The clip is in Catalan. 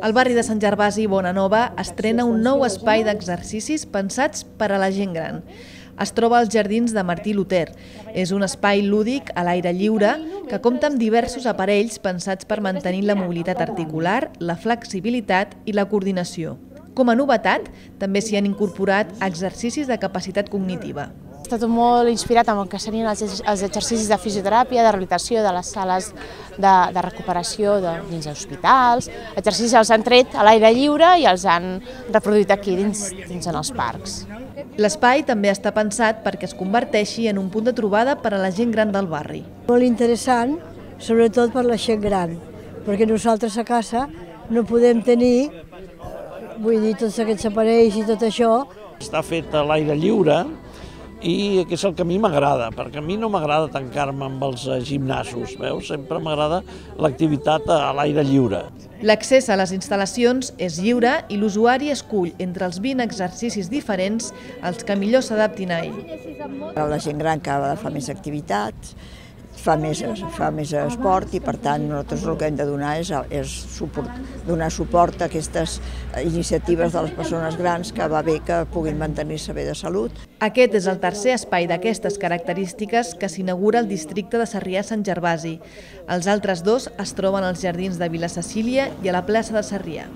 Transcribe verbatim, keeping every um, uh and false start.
El barri de Sant Gervasi i Bonanova estrena un nou espai d'exercicis pensats per a la gent gran. Es troba als jardins de Martí Luter. És un espai lúdic a l'aire lliure que compta amb diversos aparells pensats per mantenir la mobilitat articular, la flexibilitat i la coordinació. Com a novetat, també s'hi han incorporat exercicis de capacitat cognitiva. Està tot molt inspirat en el que serien els exercicis de fisioteràpia, de rehabilitació de les sales de, de recuperació de, dins hospitals. Exercicis els han tret a l'aire lliure i els han reproduït aquí dins, dins en els parcs. L'espai també està pensat perquè es converteixi en un punt de trobada per a la gent gran del barri. Molt interessant, sobretot per la gent gran, perquè nosaltres a casa no podem tenir, vull dir, tots aquests aparells i tot això. Està fet a l'aire lliure i que és el que a mi m'agrada, perquè a mi no m'agrada tancar-me amb els gimnasos, veus? Sempre m'agrada l'activitat a l'aire lliure. L'accés a les instal·lacions és lliure i l'usuari escull entre els vint exercicis diferents els que millor s'adaptin a ell. La gent gran cada vegada fa més activitats, fa més, fa més esport i per tant nosaltres el que hem de donar és, és suport, donar suport a aquestes iniciatives de les persones grans que va bé que puguin mantenir-se bé de salut. Aquest és el tercer espai d'aquestes característiques que s'inaugura al districte de Sarrià-Sant Gervasi. Els altres dos es troben als jardins de Vila Cecília i a la plaça de Sarrià.